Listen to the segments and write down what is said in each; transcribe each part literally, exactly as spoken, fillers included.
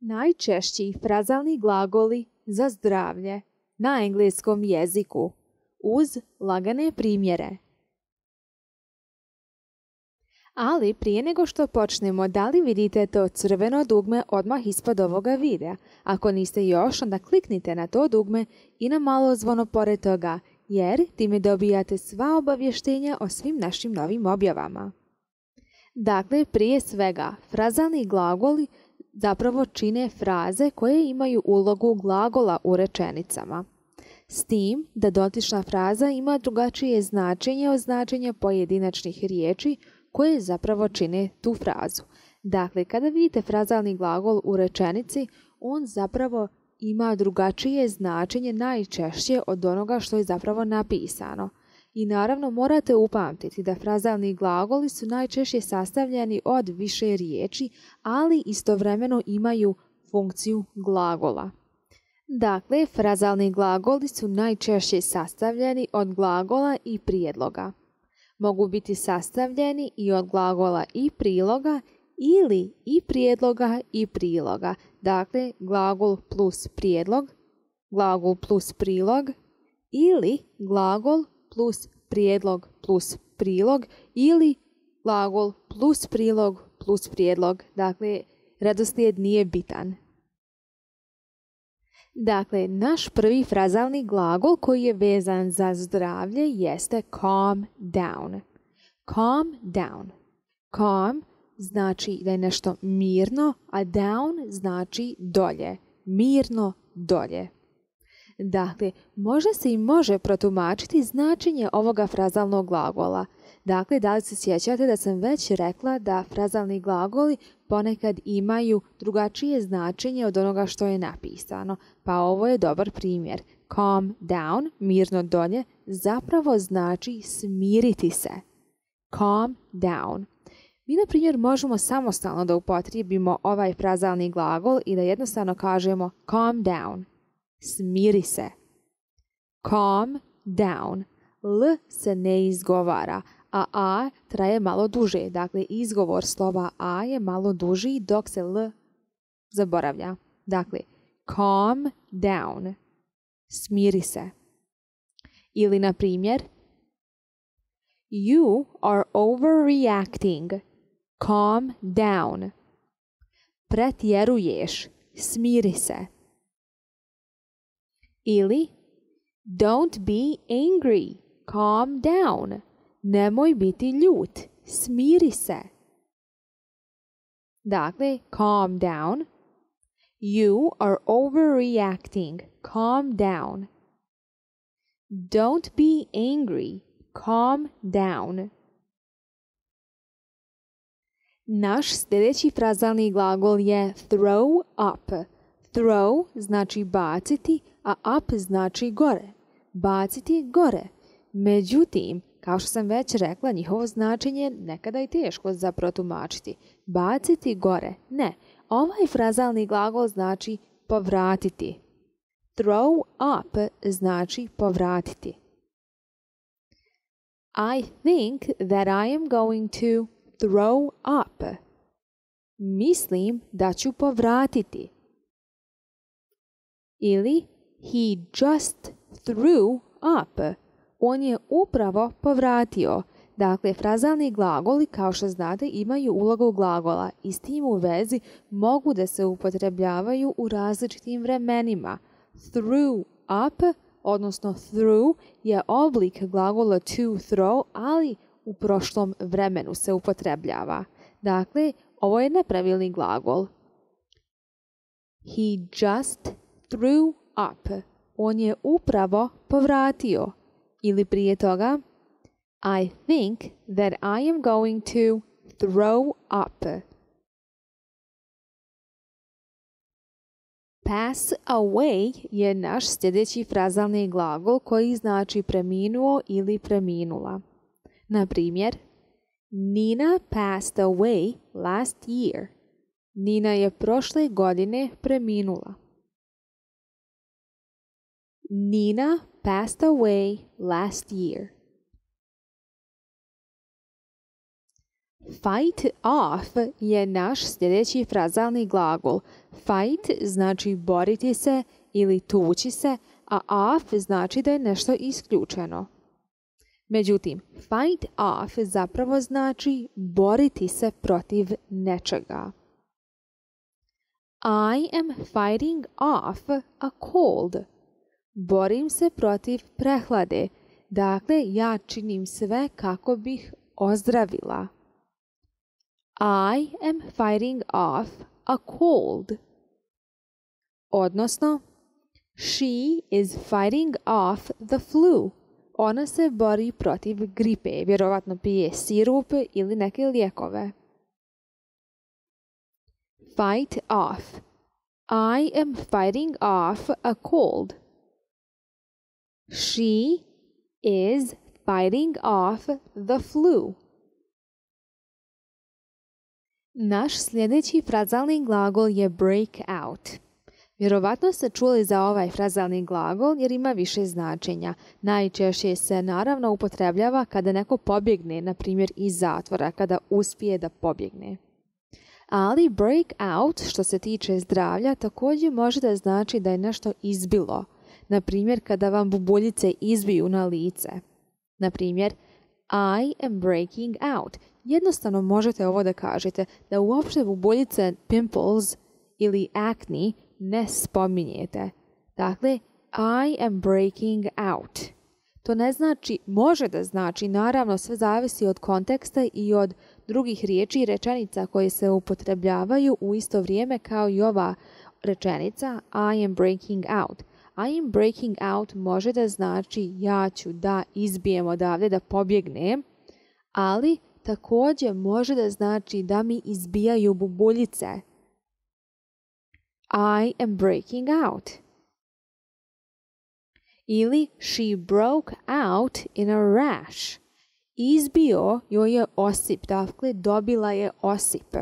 Najčešći frazalni glagoli za zdravlje na engleskom jeziku uz lagane primjere. Ali prije nego što počnemo, da li vidite to crveno dugme odmah ispod ovoga videa? Ako niste još, onda kliknite na to dugme i na malo zvono pored toga, jer time dobijate sva obavještenja o svim našim novim objavama. Dakle, prije svega, frazalni glagoli zapravo čine fraze koje imaju ulogu glagola u rečenicama. S tim da dotična fraza ima drugačije značenje od značenja pojedinačnih riječi koje zapravo čine tu frazu. Dakle, kada vidite frazalni glagol u rečenici, on zapravo ima drugačije značenje najčešće od onoga što je zapravo napisano. I naravno morate upamtiti da frazalni glagoli su najčešće sastavljeni od više riječi, ali istovremeno imaju funkciju glagola. Dakle, frazalni glagoli su najčešće sastavljeni od glagola i prijedloga. Mogu biti sastavljeni i od glagola i priloga ili i prijedloga i priloga. Dakle, glagol plus prijedlog, glagol plus prilog ili glagol plus prijedlog plus prilog ili glagol plus prilog plus prijedlog. Dakle, redoslijed nije bitan. Dakle, naš prvi frazalni glagol koji je vezan za zdravlje jeste calm down. Calm down. Calm znači da je nešto mirno, a down znači dolje. Mirno dolje. Dakle, može se i može protumačiti značenje ovoga frazalnog glagola. Dakle, da li se sjećate da sam već rekla da frazalni glagoli ponekad imaju drugačije značenje od onoga što je napisano, pa ovo je dobar primjer. Calm down, mirno dolje, zapravo znači smiriti se. Calm down. Mi, na primjer, možemo samostalno da upotrijebimo ovaj frazalni glagol i da jednostavno kažemo calm down. Smiri se. Calm down. L se ne izgovara, a a traje malo duže. Dakle, izgovor slova a je malo duži dok se l zaboravlja. Dakle, calm down. Smiri se. Ili, na primjer, you are overreacting. Calm down. Pretjeruješ. Smiri se. Ili, don't be angry. Calm down. Nemoj biti ljut. Smiri se. Dakle, calm down. You are overreacting. Calm down. Don't be angry. Calm down. Naš sljedeći frazalni glagol je throw up. Throw znači baciti, a up znači gore. Baciti gore. Međutim, kao što sam već rekla, njihovo značenje nekada je teško za protumačiti. Baciti gore. Ne, ovaj frazalni glagol znači povratiti. Throw up znači povratiti. I think that I am going to throw up. Mislim da ću povratiti. Ili he just threw up. On je upravo povratio. Dakle, frazalni glagoli, kao što znate, imaju ulogu glagola i s tim u vezi mogu da se upotrebljavaju u različitim vremenima. Threw up, odnosno threw, je oblik glagola to throw, ali u prošlom vremenu se upotrebljava. Dakle, ovo je nepravilni glagol. He just threw up. On je upravo povratio. Ili prije toga, I think that I am going to throw up. Pass away je naš sljedeći frazalni glagol koji znači preminuo ili preminula. Na primjer, Nina passed away last year. Nina je prošle godine preminula. Nina passed away last year. Fight off je naš sljedeći frazalni glagol. Fight znači boriti se ili tući se, a off znači da je nešto isključeno. Međutim, fight off zapravo znači boriti se protiv nečega. I am fighting off a cold. Borim se protiv prehlade. Dakle, ja činim sve kako bih ozdravila. I am fighting off a cold. Odnosno, she is fighting off the flu. Ona se bori protiv gripe, vjerovatno pije sirup ili neke lijekove. Fight off. I am fighting off a cold. She is fighting off the flu. Naš sljedeći frazalni glagol je break out. Vjerovatno ste čuli za ovaj frazalni glagol jer ima više značenja. Najčešće se naravno upotrebljava kada neko pobjegne, na primjer iz zatvora, kada uspije da pobjegne. Ali break out, što se tiče zdravlja, također može da znači da je nešto izbilo. Na primjer, kada vam bubuljice izbiju na lice. Na primjer, I am breaking out. Jednostavno možete ovo da kažete, da uopšte bubuljice, pimples ili acne ne spominjete. Dakle, I am breaking out. To ne znači, može da znači, naravno sve zavisi od konteksta i od drugih riječi i rečenica koje se upotrebljavaju u isto vrijeme kao i ova rečenica I am breaking out. I am breaking out može da znači ja ću da izbijem odavde, da pobjegnem, ali također može da znači da mi izbijaju bubuljice. I am breaking out. Ili she broke out in a rash. Izbio joj je osip, dakle dobila je osip.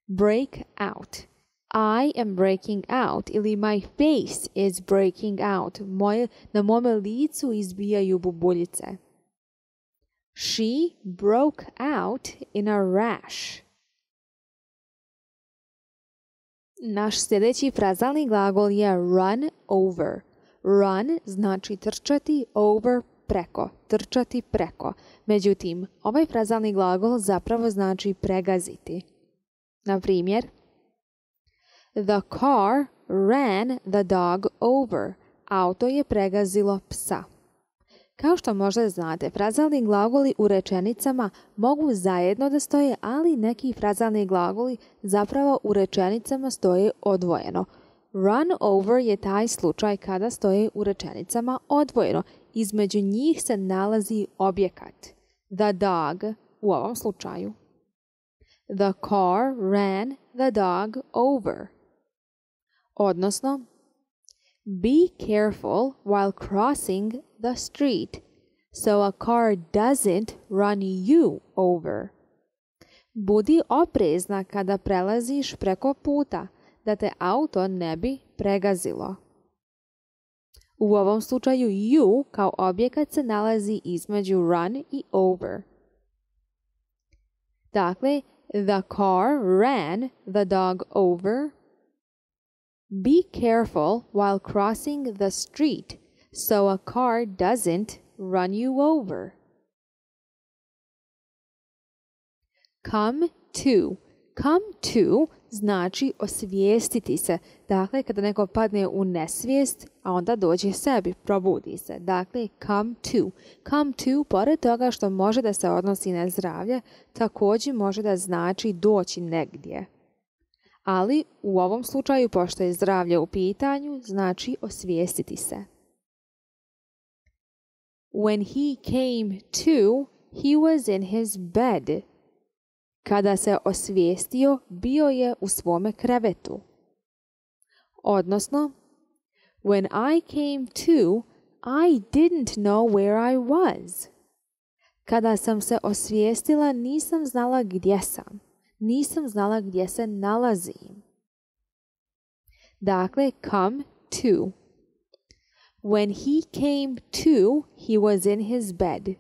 Break out. I am breaking out ili my face is breaking out. Moje, na mome licu izbijaju bubuljice. She broke out in a rash. Naš sljedeći frazalni glagol je run over. Run znači trčati, over preko, trčati preko. Međutim, ovaj frazalni glagol zapravo znači pregaziti. Na primjer, the car ran the dog over. Auto je pregazilo psa. Kao što možda znate, frazalni glagoli u rečenicama mogu zajedno da stoje, ali neki frazalni glagoli zapravo u rečenicama stoje odvojeno. Run over je taj slučaj kada stoje u rečenicama odvojeno. Između njih se nalazi objekat. The dog u ovom slučaju. The car ran the dog over. Odnosno, be careful while crossing the street so a car doesn't run you over. Budi oprezna kada prelaziš preko puta, da te auto ne bi pregazilo. U ovom slučaju you kao objekat se nalazi između run i over. Dakle, the car ran the dog over. Be careful while crossing the street so a car doesn't run you over. Come to. Come to znači osvijestiti se. Dakle, kada neko padne u nesvijest, a onda dođe sebi, probudi se. Dakle, come to. Come to, pored toga što može da se odnosi na zdravlje, također može da znači doći negdje. Ali u ovom slučaju, pošto je zdravlje u pitanju, znači osvijestiti se. When he came to, he was in his bed. Kada se osvijestio, bio je u svome krevetu. Odnosno, when I came to, I didn't know where I was. Kada sam se osvijestila, nisam znala gdje sam. Nisam znala gdje se nalazim. Dakle, come to. When he came to, he was in his bed.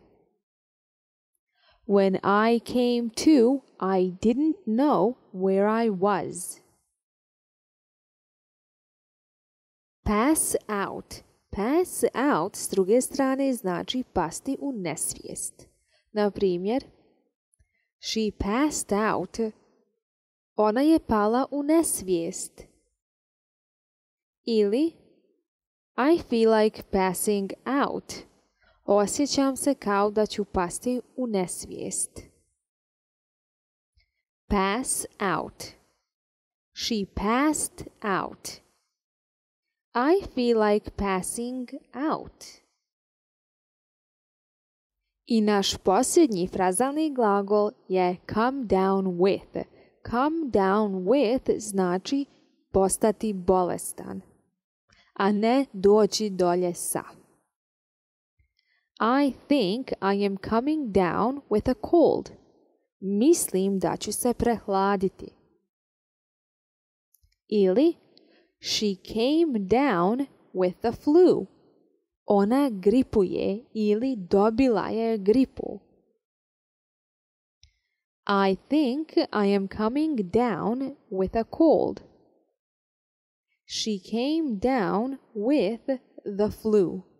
When I came to, I didn't know where I was. Pass out. Pass out s druge strane znači pasti u nesvijest. Na primjer, she passed out. Ona je pala u nesvijest. Ili I feel like passing out. Osjećam se kao da ću pasti u nesvijest. Pass out. She passed out. I feel like passing out. I naš posljednji frazalni glagol je come down with. Come down with znači postati bolestan, a ne doći dolje sa. I think I am coming down with a cold. Mislim da ću se prehladiti. Ili she came down with the flu. Ona gripuje ili dobila je gripu. I think I am coming down with a cold. She came down with the flu.